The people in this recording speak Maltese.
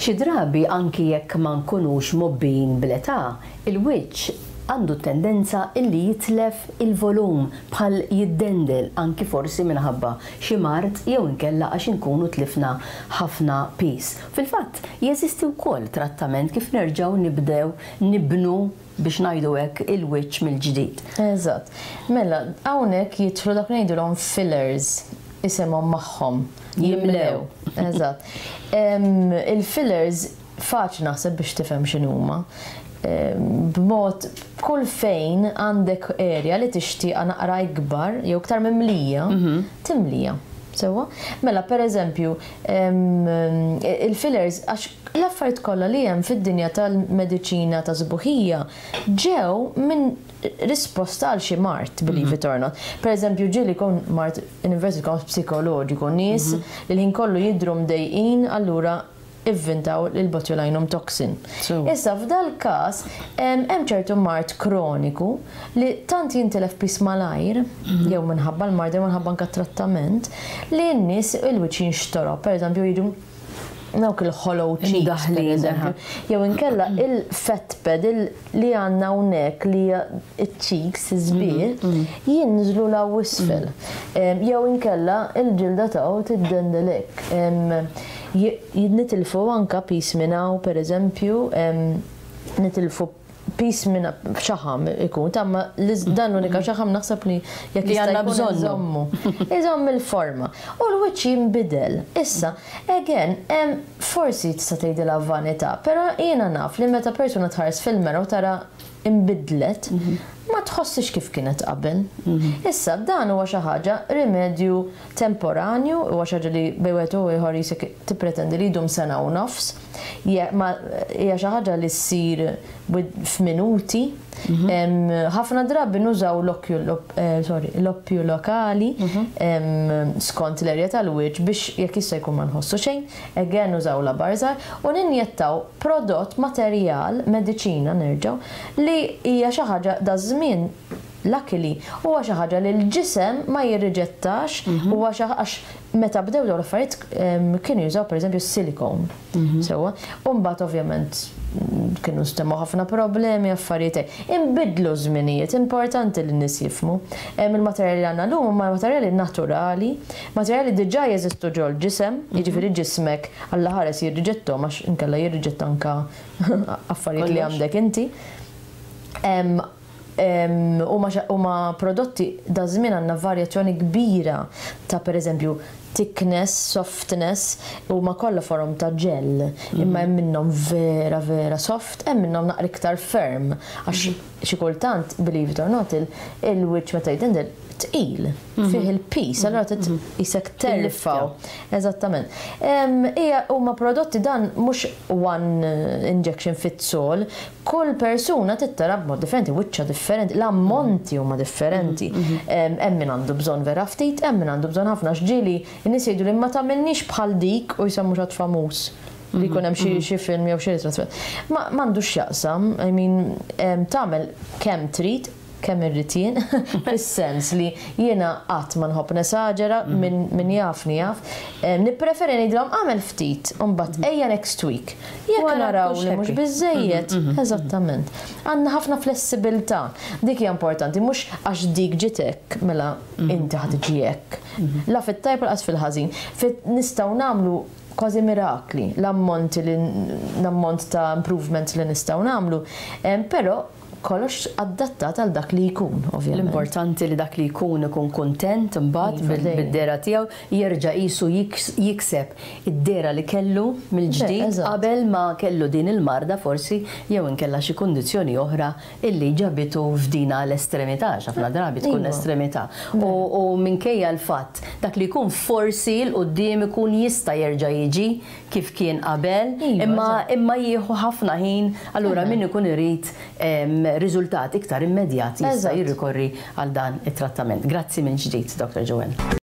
Xi drabi anki jekk ma nkunux mgħobbijin bl-età, il-wiċċ għandu t-tendenza illi jitlef il-volum bħal jiddendel anki forsi minħabba xi mard jew inkella għax inkunu tlifna ħafna piż. Fil-fatt, jeżisti wkoll trattament kif nerġgħu nibdew nibnu, biex ngħidu hekk, il-wiċċ mill-ġdid. Eżatt. Mela, hawnhekk jidħlu dak li ngħidulhom fillers, isimhom magħhom. Jimlew. Eżatt. Il-fillers faċli naħseb biex tifhem x'inhuma. B'mod kull fejn għandek area li tixtieqha naqra ikbar jew iktar mimlija, timlija. Sewwa? Mela, per eżempju, il-fillers għax l-affarijiet kollha li hemm fid-dinja tal-mediċina ta' sbuħija ġew minn risposta għal xi mard, believe it or not. Per eżempju, ġieli jkun mard in inverted commas psikoloġiku, nies li l-ħin kollu jidhru mdejqin allura ivvintaw il-botulinum toxin. Issa f'dal-każ hemm ċertu mard kroniku li tant jintilef piż malajr, jew minħabba l-mard jew minħabba anke t-trattament, li n-nies il-wiċċ jinxtorob, per eżempju jiġu dawk il-hollow cheeks, per eżempju. Jew inkella il-fat pad li għandna hawnhekk li hija ċ-cheeks iż-żbir jinżlu 'l hawn isfel. Jew inkella il-ġilda ta' tiddendel hekk. Nitilfu anka piż minn hawn, per eżempju, nitilfu piż minn xaħam ikun, ta' ma dan l-unika xaħam naħseb li jekk Li jista' għandna jkun bżonnu. iżommu. Iżomm il-forma. U l-wiċċ jinbidel. Issa, again, forsi tista' tgħidilha vanità, però jiena naf li meta persuna tħares fil-mera u tara imbidlet, ma tħossix kif kienet qabel. Issa, dan huwa xi ħaġa rimedju temporanju, huwa xi ħaġa li bejn wieħed u ieħor jisek tippretendi li jdum sena u nofs. Ma hija xi ħaġa li ssir f'minuti. Ħafna drabi nużaw l-oppju lokali skont l-erja tal-wiċċ biex jekk jista' jkun ma nħossu xejn, again nużaw labar żgħar u ninjettaw prodott materjal, mediċina nerġgħu, li hija xi ħaġa da żmien luckily huwa xi ħaġa li l-ġisem ma jirriġettax, huwa xi għax meta bdew dawn l-affarijiet kienu jużaw pereżempju silikon. Sewwa, u mbagħad ovvjament kienu stemmu ħafna problemi, affarijiet hekk. Inbidlu żminijiet, importanti li n-nies jifhmu. Il-materjali li għandna llum huma materjali naturali, materjali diġà jeżistu ġol-ġisem, jiġifieri ġismek Alla ħares jirriġettom għax inkella jirriġetta anka affarijiet li Kollox. għandek inti. Huma prodotti da żmien għandna varjazzjoni kbira ta' pereżempju thickness, softness, huma kollha forom ta' gel, imma hemm minnhom vera vera soft, hemm minnhom naqra iktar firm, għax xi kultant, believe it or not, il-wiċċ meta jitindel tqil, fih il-piż, allura trid isek terfgħu. Eżattament. Hija huma prodotti dan mhux one injection fits all, kull persuna tittara b'mod differenti, wiċċa differenti, l-ammonti huma differenti. Hemm min għandu bżonn vera ftit, hemm min għandu bżonn ħafna x'ġieli n-nies jgħidu li ma tagħmilniex bħal dik u jsemmu xi ħadd famuż li jkun hemm xi film jew xi ritratt. Ma m'għandux x'jaqsam, I mean, tagħmel kemm trid, kemm irrid jien, fis-sens li jiena qatt ma nħobb nesaġera min jafni jaf. Nippreferi ngħidilhom għamel ftit, u mbagħad ejja next week. Jekk Wara naraw kux li mhux happy. biżejjed, eżattament. Għandna ħafna flessibilità. Dik hija importanti, mhux għax dik ġiet hekk, mela inti ħa tiġi hekk. La fit-tajb lanqas fil-ħażin. Nistgħu nagħmlu kważi mirakli, l-ammonti li l-ammont ta' improvements li nistgħu nagħmlu, però kollox adattat għal dak li jkun, ovvjament. L-importanti li dak li jkun ikun kontent imbagħad Iva, dejjem. bid-dehra tiegħu jerġa' qisu jikseb id-dehra li kellu mill-ġdid qabel ma kellu din il-marda forsi jew inkella xi kundizzjoni oħra illi ġabitu f'dina l-estremità, għax ħafna drabi tkun estremità. U minkejja l-fatt dak li jkun forsi 'l quddiem ikun jista' jerġa' jiġi kif kien qabel, imma jieħu ħafna ħin, allura min ikun irid riżultat iktar immedjat jista' jirrikorri għal dan it-trattament. Grazzi minn ġdid, Dr. Joanne.